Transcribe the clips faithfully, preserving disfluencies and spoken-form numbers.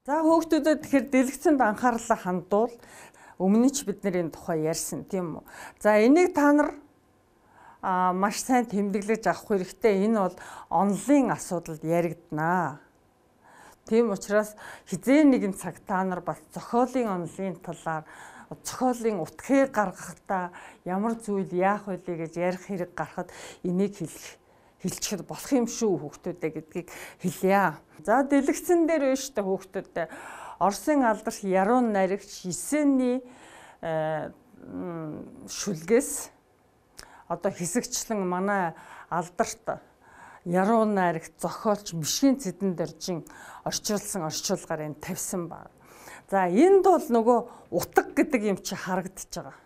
За хүүхдүүдэд тэгэхээр дэлгэцэнд анхаарлаа хандуул. Өмнө нь ч бид нэр энэ тухай ярьсан тийм үү. За энийг та нар а маш сайн тэмдэглэж авах хэрэгтэй. Энэ бол онлын асуудалд яригдана. Тийм учраас хизээ нэгэн цаг та нар бас зохиолын онлын талаар зохиолын утгыг гаргахдаа ямар зүйл яах вэ гэж ярих хэрэг гарахад энийг хэлэх хэлчихэд болох юм шүү хүүхдүүдээ гэдгийг хэлье. За дэлгэцэн дээр байна шүү дээ хүүхдүүдээ. Оросын алдарч Ярун наригч Есений шүлгээс одоо хэсэгчлэн манай алдарт Ярун наригч зохиолч Мишгийн Цэдэн Доржин орчуулсан орчуулгаар энэ тавьсан баг. За энд бол нөгөө утга гэдэг юм чи харагдаж байгаа.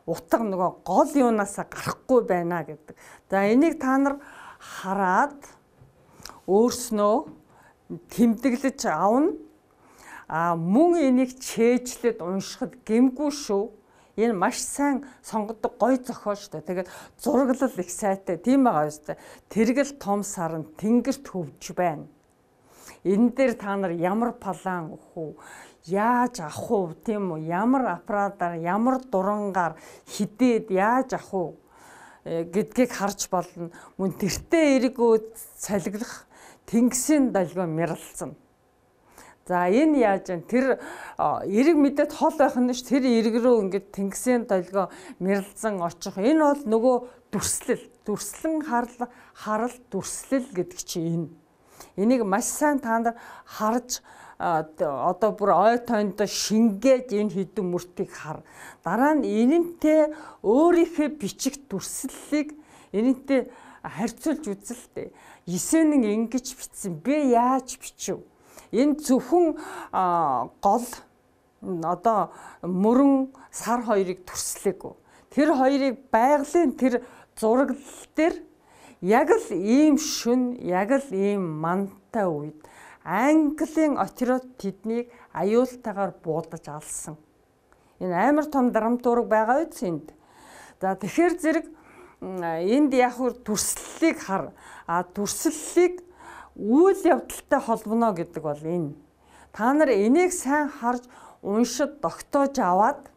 Утга нөгөө гол юунаасаа гарахгүй байна гэдэг. За энийг та нар хараад өөрснөө тэмдэглэж авна. А мөн энийг чэйжлээд уншихад гэмгүй шүү. Энэ маш сайн сонгодог гоё зохиол шүү дээ. Тэгээд зураглал их сайтай. Тийм байгаа шүү дээ. Тэргэл том сарн тэнгэрт хөвж байна. Энэ дээр та нар ямар палан өгөх үү? Яаж авах уу тийм үү? Ямар аппаратаар, ямар дурангаар хидээд яаж авах уу гэдгийг харж болно. Мөн тэртээ эргөө цалиглах тэнгисийн долгио мэрэлцэн. За энэ яаж вэ? Тэр эрэг мэдээд хол байх нь ш тэр эрэг рүү ингээд тэнгисийн долгио мэрэлцэн очих. Энэ бол нөгөө дүрслэл, дүрслэн харал харал дүрслэл гэдэг чинь энэ. Энийг маш сайн та нар харж одоо бүр ой тоонд шингээд энэ хідэн мөртийг хар. Дараа нь энэнтэй өөрийнхөө бичих дүрслэлийг энэнтэй харьцуулж үзэлтэй. Есенэн ингэж бичсэн. Би яаж бичив? Энэ зөвхөн гол одоо мөрөн сар хоёрыг дүрслээгүү. Тэр хоёрыг байгалийн тэр зураглал дээр яг л ийм шүн, яг л ийм мантай үед Английн отрод тэднийг аюултайгаар буудаж алсан. Энэ амар том драматург байгаа үз энд. За тэгэхээр зэрэг энд яг дүрслэлийг хар. А дүрслэлийг үйл явдалтай холбоно гэдэг бол энэ. Та нар энийг сайн харж уншид тогтоож аваад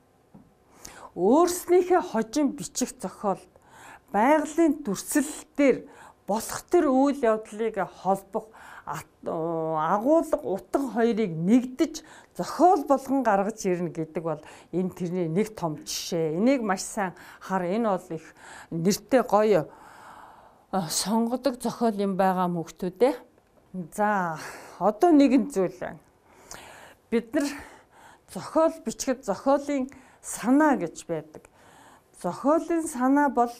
өөрснийхөө хожим бичих зохиол байгалийн дүрслэлээр болох тэр үйл явдлыг холбох агуулга утга хоёрыг нэгдэж зохиол болгон гаргаж ирнэ гэдэг бол энэ тэрний нэг том жишээ. Энийг маш сайн хар. Энэ бол их нэртэй гоё сонгодог зохиол юм байгаа хүүхдүүдээ. За одоо нэгэн зүйл байна. Бид нар зохиол бичгэд зохиолын санаа гэж байдаг. Зохиолын санаа бол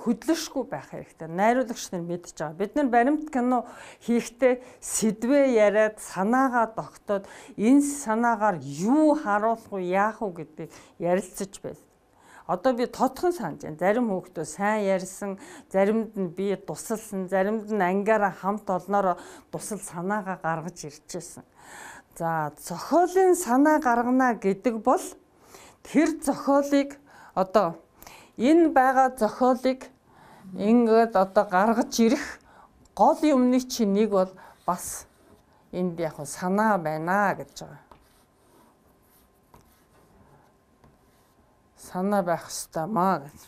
хөдлөшгүй байх хэрэгтэй. Найруулагч нар мэдж байгаа. Бид нар баримт кино хийхдээ сэдвээ яриад санаагаа тогтоод энэ санаагаар юу харуулах уу, яах уу гэдгийг ярилцаж байна. Одоо би тодхон санаж байна. Зарим хүүхдүүд сайн ярьсан, заримд нь би тусалсан, заримд нь ангиараа хамт олноор тусал санаагаа гаргаж ирчихсэн. За, зохиолын санаа гаргана гэдэг бол тэр зохиолыг одоо энэ байгаа зохиолыг ингээд одоо гаргаж ирэх гол юмны чинь нэг бол бас энд яг санаа байна гэж байгаа. Санаа байх ёстой маа гэж.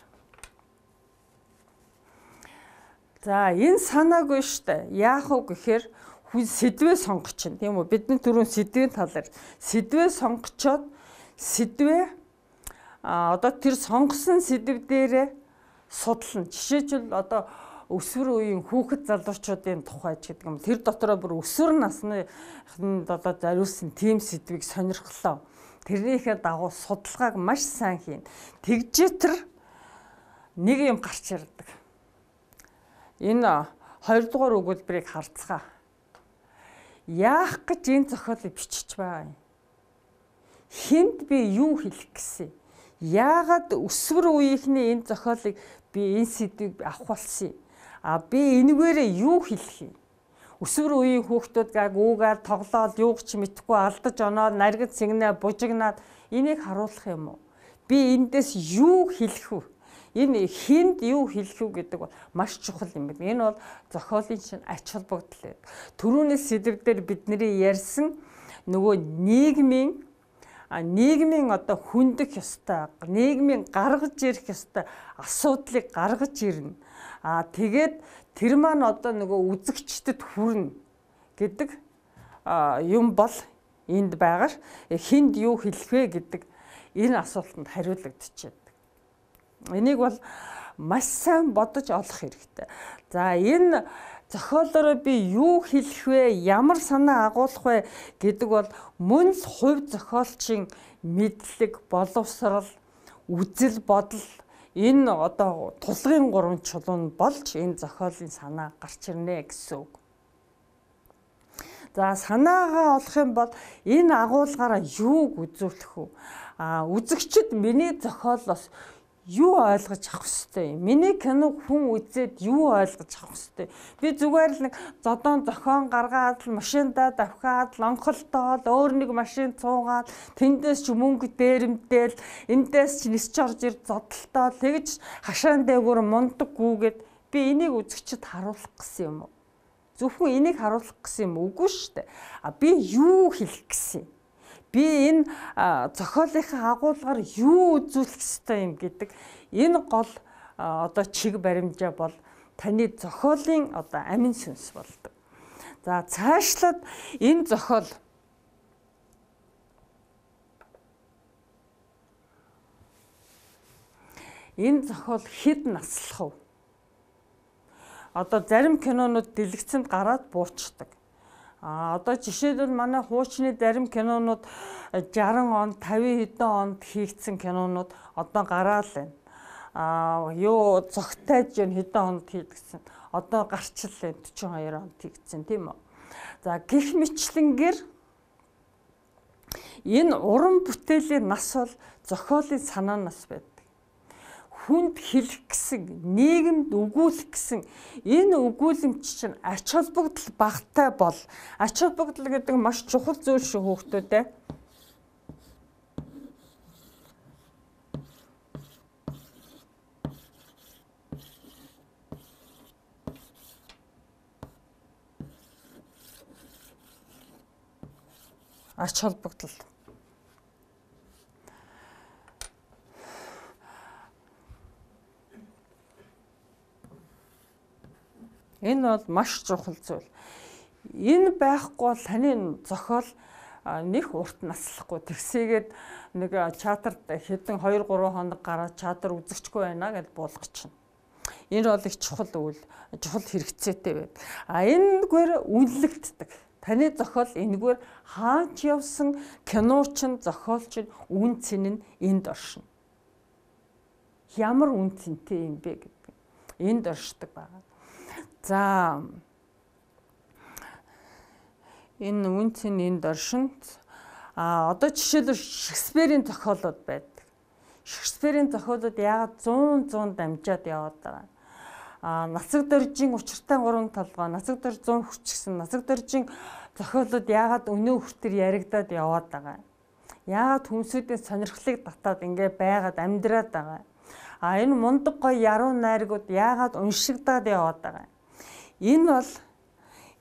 За энэ санаагүй штэ. Яах вэ гэхээр хүн сэдвээ сонгочихно тийм үү? Бидний түрүүн сэдвийн талаар сэдвээ сонгочоод сэдвээ а одоо тэр сонгосон сэдв дээрээ судлана. Жишээлбэл одоо өсвөр үеийн хүүхэд залуучуудын тухай ч гэдэг юм. Тэр дотроо бүр өсвөр насны одоо зориулсан тим сэдвийг сонирхлоо. Тэрнийхээ дагуу судалгааг маш сайн хийн. Тэгжээ тэр нэг юм гарч ирдэг. Энэ хоёрдугаар өгүүлбэрийг харцгаа. Яах гэж энэ зохиолыг бичиж байгаа юм? Хэнд би юу хэлэх гэсэн? Яагаад өсвөр үеийнхний энэ зохиолыг би энэ сэдвийг авах болсон юм? А би энэгээрээ юу хэлэх юм? Өсвөр үеийн хүүхдүүд гаг үүгээр тоглоод юуг ч мэдэхгүй алдаж оноод наргид сэгнээ бужигнаад энийг харуулах юм уу? Би эндээс юу хэлэх вэ? Энэ хинд юу хэлэх үү гэдэг бол маш чухал юм байна. Энэ бол зохиолын чинь ач холбогдол байдаг. Түрүүний сэдвээр бидний ярьсан нөгөө нийгмийн нийгмийн одоо хүндэх ёстой, нийгмийн гаргаж ирэх ёстой асуудлыг гаргаж ирнэ. Аа тэгээд тэр маань одоо нөгөө үзэгчдэд хүрнэ гэдэг юм бол энд байгаа хинд юу хэлэх вэ гэдэг энэ асуултанд хариулагдчихэв. Энийг бол маш сайн бодож олох хэрэгтэй. За энэ зохиолоор би юу хэлэх вэ, ямар санаа агуулах вэ гэдэг бол мөн л хувь зохиолчийн мэдлэг, боловсрал, үзэл бодол энэ одоо тулгын гурван чулуун болж энэ зохиолын санаа гарч ирнэ гэсэн үг. За санаагаа олох юм бол энэ агуулгаараа юуг үзүүлэх вэ? А үзэгчд миний зохиолоос юу ойлгож авах ёстой юм? Миний киног хүн үзээд юу ойлгож авах ёстой? Би зүгээр л нэг зодон зохион гаргаад машиндаа давхаад лонхолтоод өөр нэг машин цуугаад тэндээс ч мөнгө дээрэмдээл эндээс ч нисч орж ир зодтолтоо тэгж хашаан дээгүүр мундаг гүүгээд би энийг үзэгчд харуулах гэсэн юм уу? Зөвхөн энийг харуулах гэсэн юм үгүй шүү дээ. А би юу хэлэх гэсэн юм? Би энэ зохиолынхаа агуулгаар юу үзүүлэх ёстой юм гэдэг энэ гол одоо чиг баримжаа бол таны зохиолын одоо амин сүнс болдог. За цаашлаад энэ зохиол энэ зохиол хэд наслах вэ? Одоо зарим кинонууд дэлгэцэнд гараад буучдаг. А одоо жишээлбэл манай хуучны зарим кинонууд жарган онд, тавин хэдэн онд хийгдсэн кинонууд одоо гараал байна. А юу зогтойж юм хэдэн онд хийгдсэн. Одоо гарчлал байна дөрвөн хоёр онд хийгдсэн тийм үү. За гэх мэтлэнгээр энэ уран бүтээлийн нас бол зохиолын санаанаас байдаг. Хүнд хэлэх гэсэн, нийгэмд өгүүлэх гэсэн энэ өгүүлэмж чинь ач холбогдол багтай бол ач холбогдол гэдэг маш чухал зүйл шүү хүүхдүүдээ. Ач холбогдол. Энэ бол маш чухал зүйл. Энэ байхгүй бол таны зохиол нэг урт наслахгүй. Тэгсээгээд нэг чатарт хэдэн хоёр гурван хоног гараад чатар үзэгчгүй байна гэж буулгачихна. Энэ бол их чухал үйл, чухал хэрэгцээтэй байдаг. А энэгээр үнэлэгддэг. Таны зохиол энэгээр хаач явсан киночин, зохиолч нь үн цэн нь энд оршино. Ямар үн цэнтэй юм бэ гэдэг. Энд оршдог байна. За энэ үн цэн энд оршинд а одоо жишээлбэл Шекспирийн зохиолууд байдаг. Шекспирийн зохиолууд яагаад зуун зуун дамжаад яваад байгаа. А нацаг доржийн учиртай гурван толгой, нацаг дорж зуун хүчгсэн, нацаг доржийн зохиолууд яагаад өнөө хүртэр яригадаад яваад байгаа. Яагаад хүмсүүдийн сонирхлыг татаад ингээ байгаад амьдраад байгаа. А энэ мундаг гоё яруу найргууд яагаад уншигдаад яваад байгаа. Энэ бол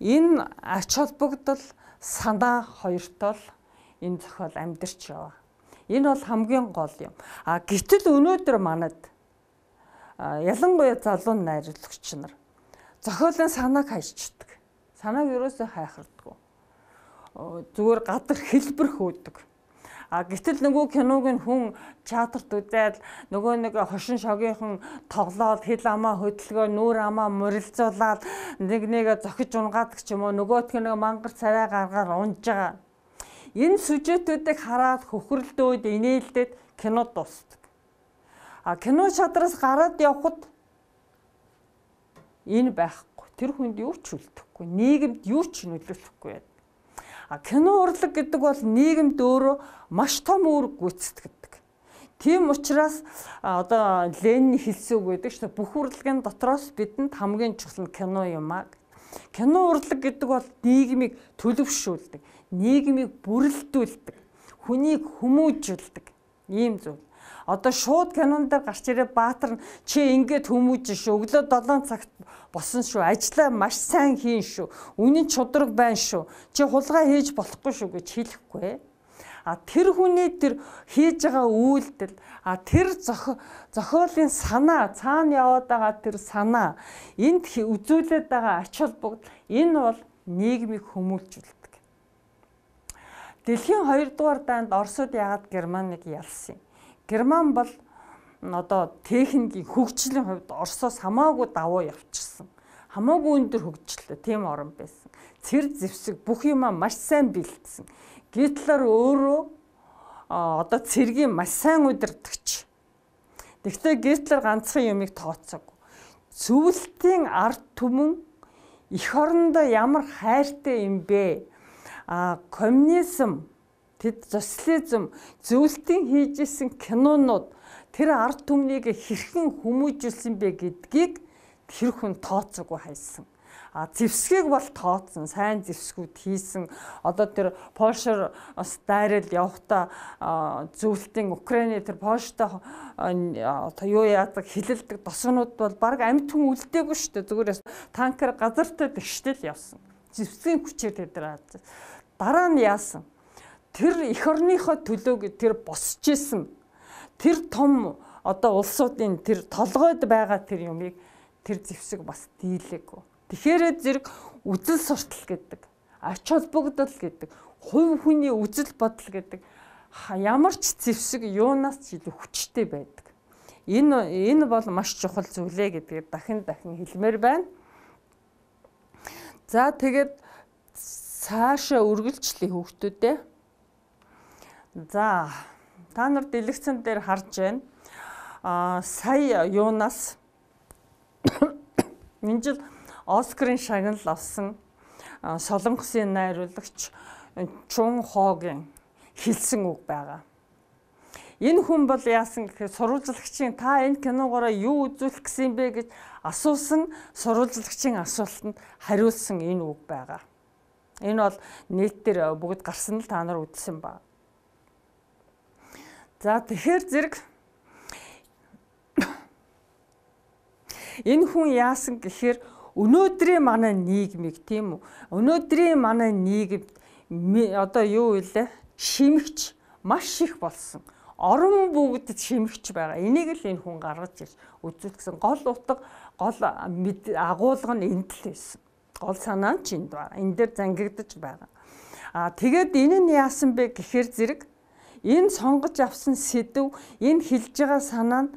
энэ ач холбогдол санаа хоёртол энэ зохиол амьдарч яваа. Энэ бол хамгийн гол юм. А гэтэл өнөөдөр манад ялангуяа залуу найруулагч нар зохиолын санааг хайчдаг. Санааг ерөөсөө хайхардаггүй. Зүгээр гадар хэлбэр хөөдөг. А гэтэл нөгөө киног нь хүн театрт үзээд нөгөө нэг хошин шогийнхан тоглоод хил амаа хөдөлгөө нүүр амаа морилцуулаад нэг нэг зохиж унгаадаг ч юм уу нөгөөтг нэг мангар царай гаргаар унж байгаа. Энэ сюжетүүдийг хараад хөхрөлдөөд инээлдээд кино дуусдаг. А кино шатраас гараад явхад энэ байхгүй. Тэр хүнд юу ч үлдэхгүй, нийгэмд юу ч нөлөөлөхгүй байдаг. А кино урлаг гэдэг бол нийгэмд өөрөө маш том үүрэг гүйцэтгэдэг. Тийм учраас одоо Ленин хэлсэн үг байдаг шүү дээ. Бүх урлагийн дотроос бидэнд хамгийн чухал нь кино юм аа. Кино урлаг гэдэг бол нийгмийг төлөвшүүлдэг, нийгмийг бүрэлдүүлдэг, хүнийг хүмүүжүүлдэг ийм зүйл. Одоо шууд кинон дээр гарч ирээ Баатар чи ингээд хүмүүж шүү. Өглөө долоон цагт босон шүү. Ажлаа маш сайн хийн шүү. Үнэн чудраг байна шүү. Чи хулгай хийж болохгүй шүү гэж хэлэхгүй. А тэр хүний тэр хийж байгаа үйлдэл, а тэр зохиолын санаа, цаана яваад байгаа тэр санаа, энд үзүүлээд байгаа ач холбогдол энэ бол нийгмийг хүмүүжүүлдэг. Дэлхийн хоёрдугаар дайнд Оросууд яагаад Германыг ялсан юм? Герман бол одоо техникийн хөгжлийн хувьд Оросоос хамаагүй давуу явчихсан. Хамаагүй өндөр хөгжлөө тийм орн байсан. Цэр зэвсэг бүх юмаа маш сайн бэлдсэн. Гитлер өөрөө одоо цэргийн маш сайн удирдагч. Гэхдээ Гитлер ганцхан юмыг тооцоогүй. Зөвлөлтийн ард түмэн эх орондоо ямар хайртай юм бэ? А коммунизм, тэд социализм, зөвлөлтийн хийжсэн кинонууд тэр ард түмнийг хэрхэн хүмүүжүүлсэн бэ гэдгийг тэр хүн тооцоогүй хайсан. А зэвсгийг бол тооцсон, сайн зэвсгүүд хийсэн. Одоо тэр Польшоор бас дайрал явахдаа зөвлөлтийн Украины тэр Польштой одоо юу яадаг хилэлдэг досгонууд бол баг амьд хүн үлдээгүй шүү дээ. Зүгээр танкер газартай тэгштэл явсан. Зэвсгийн хүчээр тэд нар дараа нь яасан? Тэр эх орныхоо төлөөг тэр босч исэн. Тэр том одоо улсуудын тэр толгойд байгаа тэр юмыг тэр зэвсэг бас дийлээгүй. Тэгэхээр зэрэг үзэл суртал гэдэг, ач холбогдол гэдэг, хувь хүний үзэл бодол гэдэг ямар ч зэвсэг юунаас ч илүү хүчтэй байдаг. Энэ энэ бол маш чухал зүйлээ гэдгийг дахин дахин хэлмээр байна. За тэгээд цаашаа үргэлжлэе хүүхдүүдээ. За та нар дэлгэцэн дээр харж байна. Аа сая юунаас энэ жил Оскарын шагнал авсан Солонгосын найруулагч Чун Хогийн хэлсэн үг байгаа. Энэ хүн бол яасан гэхээр сурвалжлагчийн та энэ киногоороо юу үзүүлэх гэсэн бэ гэж асуусан сурвалжлагчийн асуултанд хариулсан энэ үг байгаа. Энэ бол нийт дээр бүгд гарсан л та нар үзсэн ба. За тэгэхээр зэрэг энэ хүн яасан гэхээр өнөөдрийн манай нийгмийг тийм үү? Өнөөдрийн манай нийгэмд одоо юу вэ? Шимэгч маш их болсон. Орон бүгд шимэгч байгаа. Энийг л энэ хүн гаргаж ирж үзүүлсэн. Гол утга, гол агуулга нь энд л байсан. Гол санаа нь ч энд байна. Энэ дээр зангигдаж байгаа. Аа тэгээд энэ нь яасан бэ гэхээр зэрэг энэ сонгож авсан сэдв, энэ хэлж байгаа санаа нь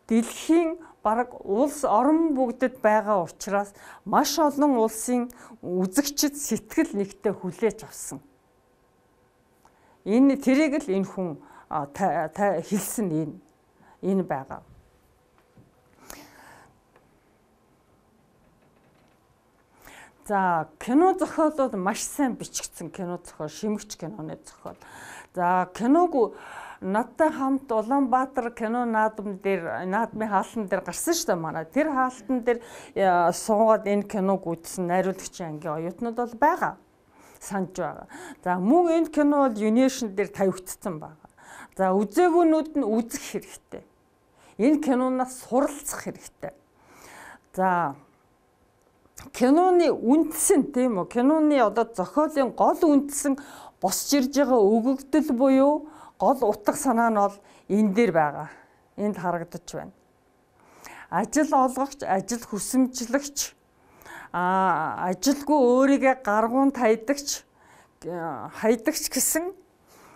дэлхийн бараг улс орон бүгдэд байгаа учраас маш олон улсын үзэгчид сэтгэл нэгтээ хүлээж авсан. Энэ тэрийг л энэ хүн хэлсэн энэ энэ байгаа. За кино зохиолууд маш сайн бичигдсэн кино зохиол, шимэгч киноны зохиол. За киног надтай хамт Улаанбаатар кино наадам дээр наадмын хаалтан дээр гарсан шүү дээ манай. Тэр хаалтан дээр суугаад энэ киног үзсэн найруулагчийн ангийн оюутнууд бол байгаа. Санаж байгаа. За мөн энэ кино бол Univision дээр тавигдсан байгаа. За үзээгүүнүүд нь үзэх хэрэгтэй. Энэ кинонаас суралцах хэрэгтэй. За киноны үндсэн тийм үү? Киноны одоо зохиолын гол үндсэн босч ирж байгаа өгөгдөл буюу гол утга санаа нь бол энэ дээр байгаа. Энд харагдаж байна. Ажил олгогч, ажил хүсэмжлэгч, аа ажилгүй өөрийгөө гаргуунд хайдагч, хайдагч гэсэн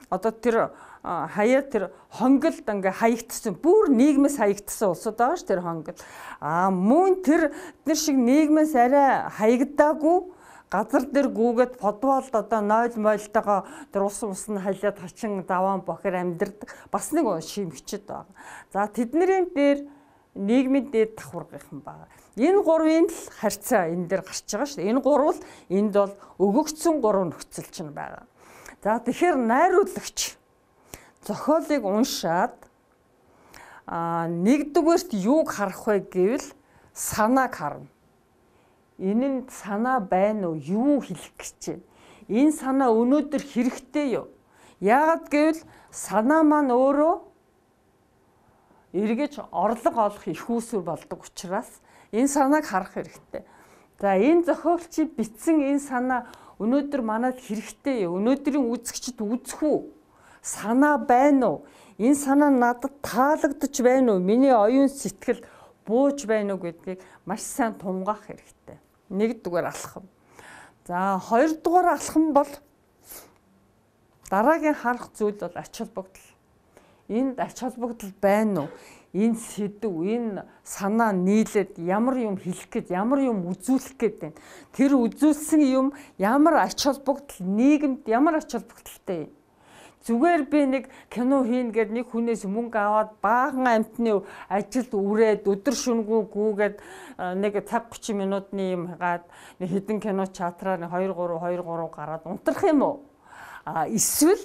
одоо тэр хаяа тэр хонгилд ингээ хаягдсан бүр нийгмээс хаягдсан улсууд байгаа ш тэр хонгил. Аа мөн тэр тэр шиг нийгмээс арай хаягдаагүй газар дээр гүгээд подволд одоо нойл мойлтойгоо тэр ус ус нь халиад хачин даваан бохор амьдэрдэг бас нэг шимэгчд байгаа. За тэднэрийн дээр нийгмийн дээд давхаргийнхан байгаа. Энэ гурвын л харьцаа энэ дээр гарч байгаа шүү дээ. Энэ гурвал энд бол өгөгдсөн гурав нөхцөл чинь байгаа. За тэгэхээр найруулагч зохиолыг уншаад а нэгдүгээрт юуг харах вэ гэвэл санааг харна. Энэ нь санаа байна уу? Юу хэлэх гэж байна? Энэ санаа өнөөдөр хэрэгтэй юу? Яагаад гэвэл санаа маань өөрөө эргэж орлого олох их үүсвэр болдог учраас энэ санааг харах хэрэгтэй. За энэ зохиолчид бичсэн энэ санаа өнөөдөр манайд хэрэгтэй юу? Өнөөдрийн үзэгчд үзэх үү? Санаа байна уу? Энэ санаа надад таалагдж байна уу? Миний оюун сэтгэл бууж байна уу гэдгийг маш сайн тунгаах хэрэгтэй. Нэгдүгээр алхам. За хоёрдугаар алхам бол дараагийн харах зүйл бол ач холбогдол. Энд ач холбогдол байна уу? Энэ сэдв, энэ санаа нийлээд ямар юм хэлэх гээд, ямар юм үзүүлэх гээд байна. Тэр үзүүлсэн юм ямар ач холбогдол, нийгэмд ямар ач холбогдолтой юм. Зүгээр би нэг кино хийн гээд нэг хүнээс мөнгө аваад баахан амтны ажилд үрээд өдөр шөнөгүй гүүгээд нэг цаг тридцать минутны юм хагаад нэг хідэн кино чатраар two three two three гараад унтрах юм уу? А эсвэл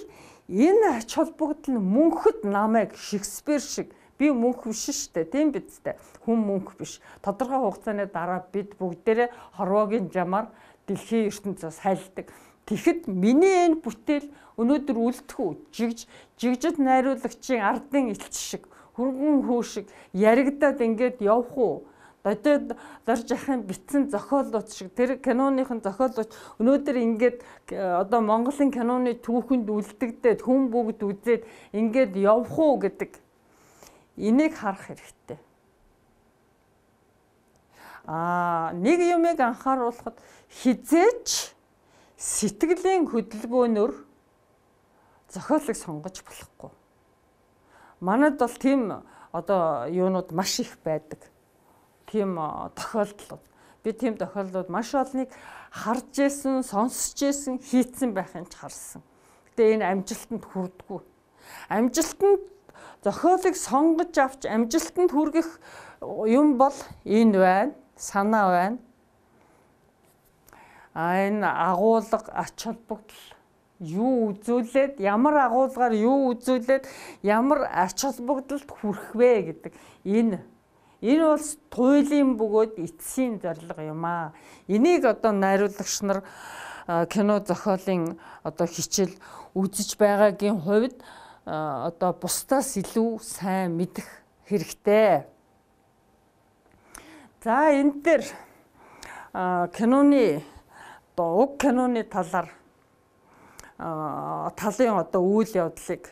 энэ ач холбогдол нь мөнхөд намайг Шекспир шиг би мөнх биш шүү дээ, тийм биз дээ. Хүн мөнх биш. Тодорхой хугацааны дараа бид бүгдээрээ хорвоогийн жамаар дэлхийн ертөнцөөс хайлдаг. Тэгэхэд миний энэ бүтээл өнөөдөр үлдэх үү? Жигж жигжид найруулагчийн ардын элч шиг, хөргөн хүү шиг яригадаад ингээд явах уу? Додод зарж ахын битсэн зохиолууд шиг тэр киноныхын зохиолууд өнөөдөр ингээд одоо Монголын киноны түүхэнд үлдэгдээд хүн бүгд үзээд ингээд явах уу гэдэг энийг харах хэрэгтэй. Аа нэг юмыг анхааруулахад хизээч сэтгэлийн хөдөлгөөнөөр зохиолыг сонгож болохгүй. Манайд бол тийм одоо юунууд маш их байдаг. Тийм тохиолдлууд. Би тийм тохиолдлууд маш олныг харж ирсэн, сонсч ирсэн, хийцэн байхын ч харсан. Гэтэ энэ амжилтанд хүрдэггүй. Амжилтанд зохиолыг сонгож авч амжилтанд хүргэх юм бол энэ байна, санаа байна. А энэ агуулга, ач холбогдол юу үзүүлээд, ямар агуулгаар юу үзүүлээд, ямар ач холбогдолд хүрэх вэ гэдэг энэ энэ бол туйлын бөгөөд эцсийн зорилго юм аа. Энийг одоо найруулагч нар кино зохиолын одоо хичээл үзэж байгаагийн хувьд одоо бусдаас илүү сайн мэдэх хэрэгтэй. За энэ дээр киноны одоо уг киноны талаар талын одоо үйл явдлыг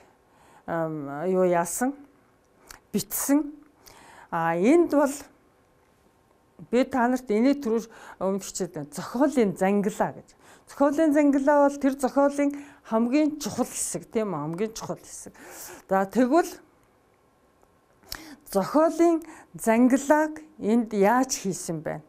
юу яасан бичсэн. А энд бол би та нарт энийг түрүү өмнө хичээд байна. Зохиолын зангилаа гэж. Зохиолын зангилаа бол тэр зохиолын хамгийн чухал хэсэг, тийм үү? Хамгийн чухал хэсэг. За тэгвэл зохиолын зангилааг энд яаж хийсэн бэ?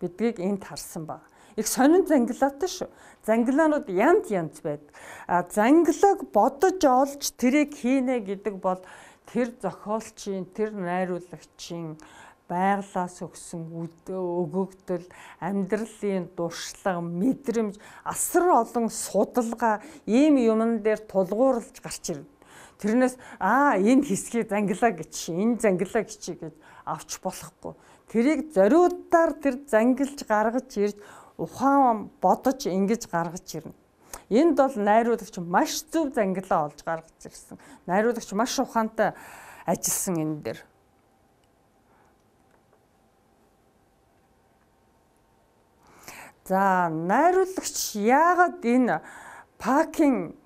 Бидгийг энд харсан баг. Их сонин зангилаатай шүү. Зангилаанууд янз янз байдаг. А зангилааг бодож олж тэрийг хийнэ гэдэг бол тэр зохиолчийн, тэр найруулагчийн байглаас өгсөн өгөгдөл, амьдралын дуршлаг, мэдрэмж, асар олон судалгаа ийм юмн дээр тулгуурлаж гарч ирнэ. Тэрнээс аа энэ хэсгийг зангилаа гэж, энэ зангилаа гэж гэж авч болохгүй. Тэрийг зориудаар тэр зангилж гаргаж ирж ухаан бодож ингэж гаргаж ирнэ. Энд бол найруулагч маш зөв зангилаа олж гаргаж ирсэн. Найруулагч маш ухаантай ажилласан энэ дээр. За найруулагч яагаад энэ Пакийн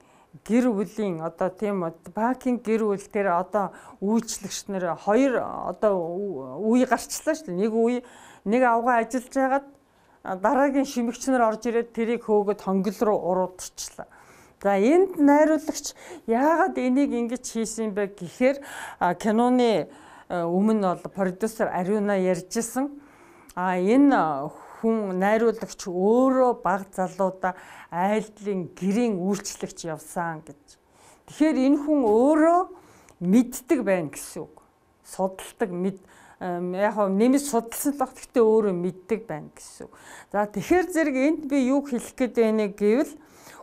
гэр бүлийн одоо тийм Пакийн гэр бүл тэр одоо үйлчлэгч нар хоёр одоо үе гарчлаа шүү дээ. Нэг үе нэг авгаа ажиллаж байгаад дараагийн шимэгч нар орж ирээд тэрийг хөөгд хонгил руу уруудчихлаа. За энд найруулагч яагаад энийг ингэж хийсэн бэ гэхээр киноны өмнө бол продюсер Ариуна ярьжсэн. А энэ хүн найруулагч өөрөө баг залуудаа айлдлын гэрийн үйлчлэгч явсан гэж. Тэгэхээр энэ хүн өөрөө мэддэг байна гэсэн үг. Судалдаг мэд яг нь нэмж судалсан л гэхдээ өөрөө мэддэг байна гэсэн үг. За тэгэхээр зэрэг энд би юу хэлэх гээд байна гэвэл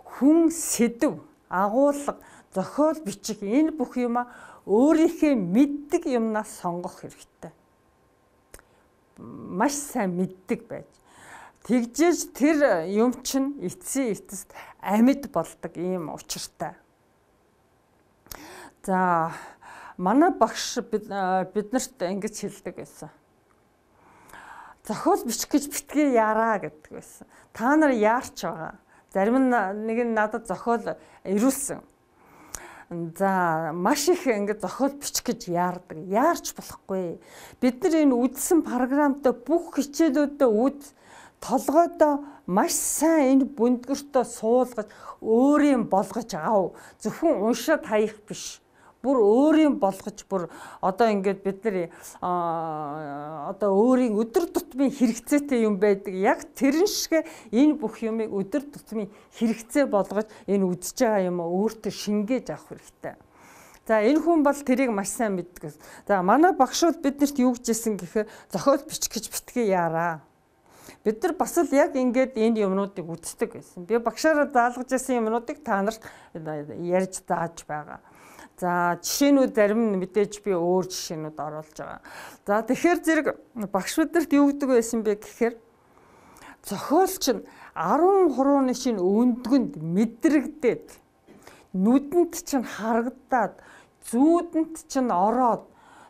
хүн сэдв, агуулга, зохиол бичих энэ бүх юма өөрийнхөө мэддэг юмнаас сонгох хэрэгтэй. Маш сайн мэддэг байж. Тэгжээж тэр юм чинь эцсийн эцэст амьд болдог ийм учиртай. За манай багш биднэрт ингэж хэлдэг байсан. Зохиол бичих гэж битгий яараа гэдэг байсан. Та нар яарч байгаа. Зарим нь нэг нь надад зохиол ирүүлсэн. За маш их ингээд зохиол бичих гэж яардаг. Яарч болохгүй. Бид нар энэ үдсэн програмтай бүх хичээлүүдэд үд толгойдоо маш сайн энэ бүндгэртөө суулгаж өөрийн болгож ав. Зөвхөн уншаад хаях биш. Бүр өөрийн болгож бүр одоо ингээд бид нар одоо өөрийн өдөр тутмын хэрэгцээтэй юм байдаг. Яг тэрэн шиг энэ бүх юмыг өдөр тутмын хэрэгцээ болгож энэ үдсэж байгаа юм өөртөө шингээж авах хэрэгтэй. За энэ хүн бол тэрийг маш сайн мэддэг. За манай багшууд биднэрт юу гэжсэн гэхээр зохиол бичих гэж битгий яараа. Бид нар бас л яг ингээд энэ юмнуудыг үздэг байсан. Би багшаараа заалгаж байсан юмнуудыг та нарт ярьж зааж байгаа. За жишээнүүд зарим нь мэдээж би өөр жишээнүүд оруулж байгаа. За тэгэхээр зэрэг багш бидэрт юу гэдэг байсан бэ гэхээр зохиолч нь арван хурууны шинэ өндгөнд мэдрэгдээд нүдэнд чинь харагдаад зүүдэнд чинь ороод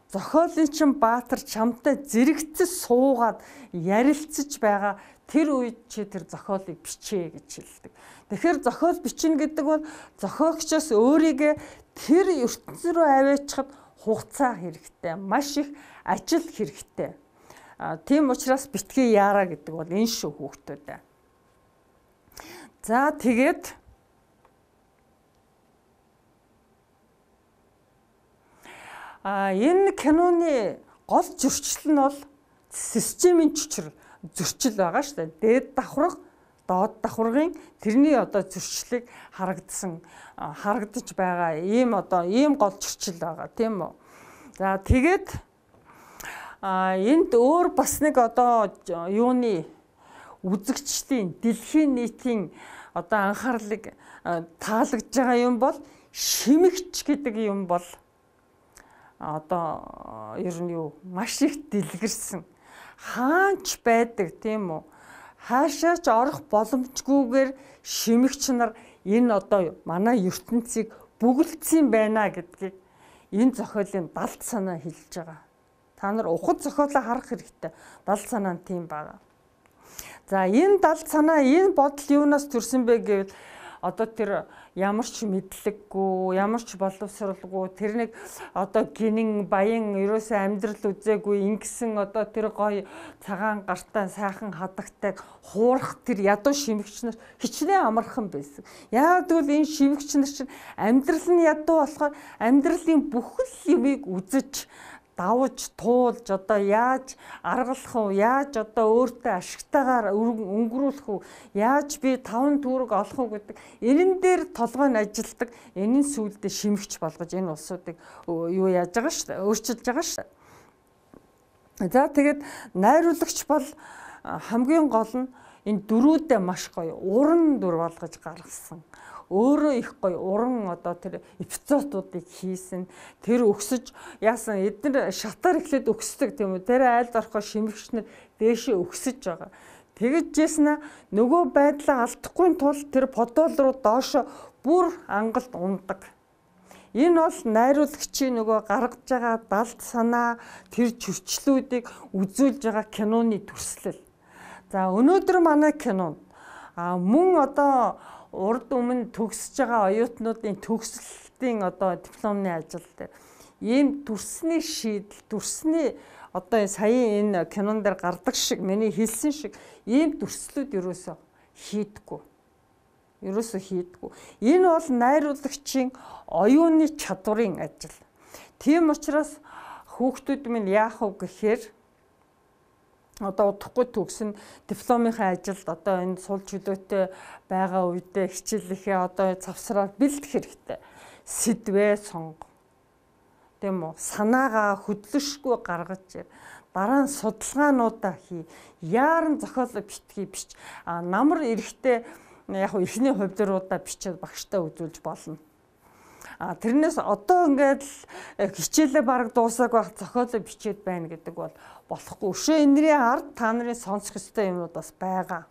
зохиолын чинь баатар чамтай зэрэгцэж суугаад ярилцаж байгаа тэр үед чи тэр зохиолыг бичээ гэж хэлдэг. Тэгэхээр зохиол бичнэ гэдэг бол зохиогчоос өөрийгөө тэр ертөнцийн рүү аваачихад хугацаа хэрэгтэй, маш их ажил хэрэгтэй. А тийм учраас битгий яараа гэдэг бол энэ шүү хүүхдүүдээ. За тэгээд а энэ киноны гол зөрчил нь бол системийн чичрэл зөрчил байгаа шүү дээ. Дээд давхарга, доод давхаргын тэрний одоо зөрчлийг харагдсан харагдаж байгаа ийм одоо ийм гол зөрчил байгаа тийм үү. За тэгээд а энд өөр бас нэг одоо юуны үзэгчдийн дэлхийн нийтийн одоо анхаарлыг таалагдж байгаа юм бол шимэгч гэдэг юм бол одоо ер нь юу маш их дэлгэрсэн хаанч байдаг тийм үү. Хаашаач орох боломжгүйгээр шимэгч нар энэ одоо манай ертөнцийг бүгэлдсэн байна гэдгийг энэ зохиолын далд санаа хэлж байгаа. Та нар ухад зохиолоо харах хэрэгтэй. Далд санаа нь тийм байна. За энэ далд санаа энэ бодол юунаас төрсөн бэ гэвэл одоо тэр ямар ч мэдлэггүй, ямар ч боловсралгүй тэр нэг одоо гинэн баян ерөөсөө амьдрал үзээгүй ингэсэн одоо тэр гоё цагаан гартаа сайхан хадагтайг хуурах тэр ядуу шимэгч нар хичнээн амархан байсан. Яг тэгвэл энэ шимэгч нар чинь амьдрал нь ядуу болохоор амьдралын бүхэл юмыг үзэж давж туулж одоо яаж аргалах уу, яаж одоо өөртөө ашигтайгаар өнгөрүүлэх үү, яаж би таван төгрөг олох уу гэдэг энэн дээр толгой нь ажилдаг. Энийн сүулдэ шимэгч болгож энэ улсуудыг юу яаж байгаа шүү дээ, өөрчилж байгаа шүү дээ. За тэгээд найруулагч бол хамгийн гол нь энэ дөрүүдээ маш гоё уран дүр болгож гаргасан. Өөрөө их гоё уран одоо тэр эпизодуудыг хийсэн. Тэр өксөж яасан эдгээр шатаар эхлээд өксдөг тийм үү. Тэр айлд орохоо шимэгчнэр дээшээ өксөж байгаа. Тэгэж жийснэ нөгөө байдлаа алдахгүй тул тэр подол руу доошо бүр ангалд ундаг. Энэ бол найруулагчийн нөгөө гаргаж байгаа далд санаа тэр зөрчлүүдийг үзүүлж байгаа киноны төрслөл. За өнөөдөр манай кинонд а мөн одоо урд өмнө төгсөж байгаа оюутнуудын төгсөлтийн одоо дипломны ажил дээр ийм төрсний шийдэл, төрсний одоо саяын энэ кинон дээр гардаг шиг миний хэлсэн шиг ийм төрслүүд ерөөсөө хийдэггүй. Ерөөсөө хийдэггүй. Энэ бол найруулагчийн оюуны чадварын ажил. Тийм учраас хүүхдүүд минь яах вэ гэхээр одоо удахгүй төгсөн дипломынхаа ажилд одоо энэ сулж хөдөөтэй байгаа үедээ хичээлийнхээ одоо завсраар бэлдэх хэрэгтэй. Сэдвээ сонго. Тийм үү? Санаагаа хөдлөшгүй гаргаж дараа нь судалгаануудаа хий. Яаран зохиолоо битгий бич. А намар эрэхтэй яг хөө эхний хувьдруудаа бичээд багштай үзүүлж болно. А тэрнээс одоо ингээд хичээлээ бараг дуусааг байх зохиолоо бичээд байна гэдэг бол болохгүй. Өшөө энэрийн ард та нарын сонсох ёстой юмнууд бас байгаа.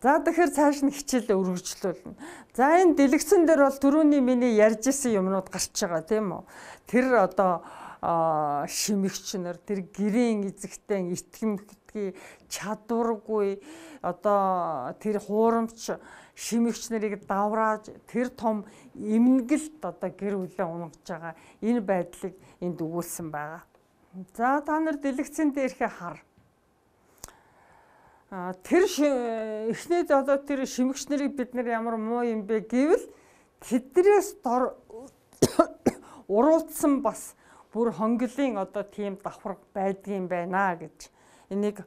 За тэгэхээр цааш нь хичээлээ үргэлжлүүлнэ. За энэ дэлгэцэн дээр бол түрүүний миний ярьж исэн юмнууд гарч байгаа тийм үү? Тэр одоо шимэгч нар, тэр гэрийн эзэгтэй итгэмжтэй чадваргүй одоо тэр хуурамч шимэгч нарыг даврааж тэр том эмнэлт одоо гэр бүлээ унгаж байгаа энэ байдлыг энд өгүүлсэн байгаа. За та нар дэлгэцэн дээрхээ хар. Тэр эхнээд одоо тэр шимэгч нарыг бид нар ямар муу юм бэ гэвэл тэднээс дор уруулсан бас бүр хонглын одоо тийм давхар байдгийн байна гэж энийг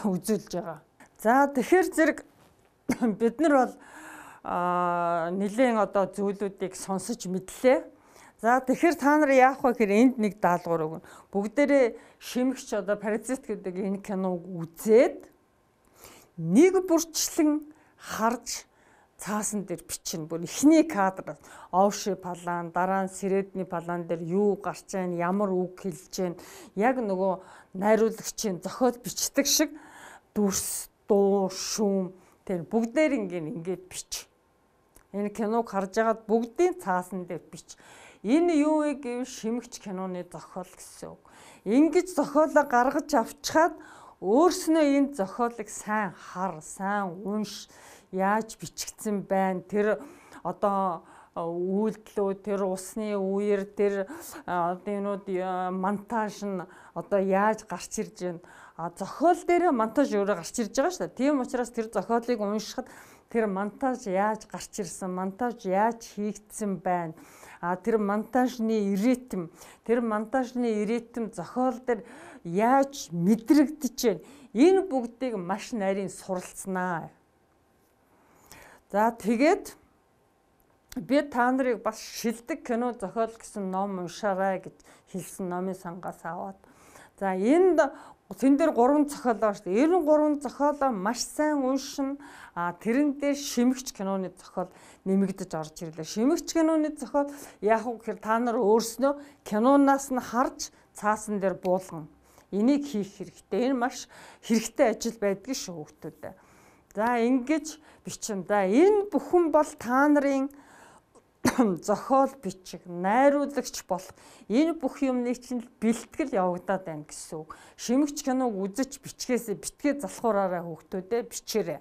үзүүлж байгаа. За тэгэхээр зэрэг бид нар бол нэлээд одоо зүйлүүдийг сонсож мэдлээ. За тэгэхээр та нар яах вэ гэхээр энд нэг даалгавар өгнө. Бүгдээрээ шимэгч одоо паразит гэдэг энэ киног үзээд нэг бүрчлэн харж цаасан дээр бичнэ. Бүр эхний кадр овши палан, дараа нь сэрэдний палан дээр юу гарч ийн, ямар үг хэлж ийн, яг нөгөө найруулагчийн зохиол бичдэг шиг дүрс, дуу, шүүм тэр бүгдээр ингээд ингээд бич. Энэ киног харж агаад бүгдийн цаасан дээр бич. Энэ юу вэ гэвэл шимэгч киноны зохиол гэсэн үг. Ингэж зохиолоо гаргаж авчхаад өөрснөө энэ зохиолыг сайн хар, сайн унш, яаж бичигдсэн байна. Тэр одоо үйлдэлүүд, тэр усны үер, тэр одоо энүүд монтаж нь одоо яаж гарч ирж байна. А зохиол дээр монтаж өөрөө гарч ирж байгаа шүү дээ. Тийм учраас тэр зохиолыг уншихад тэр монтаж яаж гарч ирсэн, монтаж яаж хийгдсэн байна. А тэр монтажны ритм, тэр монтажны ритм зохиол дээр яаж мэдрэгдэж байна. Энэ бүгдийг маш нарийн суралцнаа. За тэгээд би та нарыг бас шилдэг кино зохиол гэсэн ном уншаарай гэж хэлсэн номын сангаас аваад. За энд тэн дээр гурван зохиол байна шүү дээ. Энэ гурван зохиолоо маш сайн уншина. А тэрэн дээр шимэгч киноны зохиол нэмэгдэж орж ирлээ. Шимэгч киноны зохиол яг уу гэхээр та нар өөрснөө кинонаас нь харж цаасан дээр буулгана. Энийг хийх хэрэгтэй. Энэ маш хэрэгтэй ажил байдгийг шүү хүүхдүүд. За ингэж бичэн. За энэ бүхэн бол та нарын зохиол бичих, найруулагч болох энэ бүх юмны чинь бэлтгэл явагдаад байна гэсэн үг. Шимэгч киног үзэж бичгээсээ битгээ залхуураараа хүүхдүүдээ бичээрэй.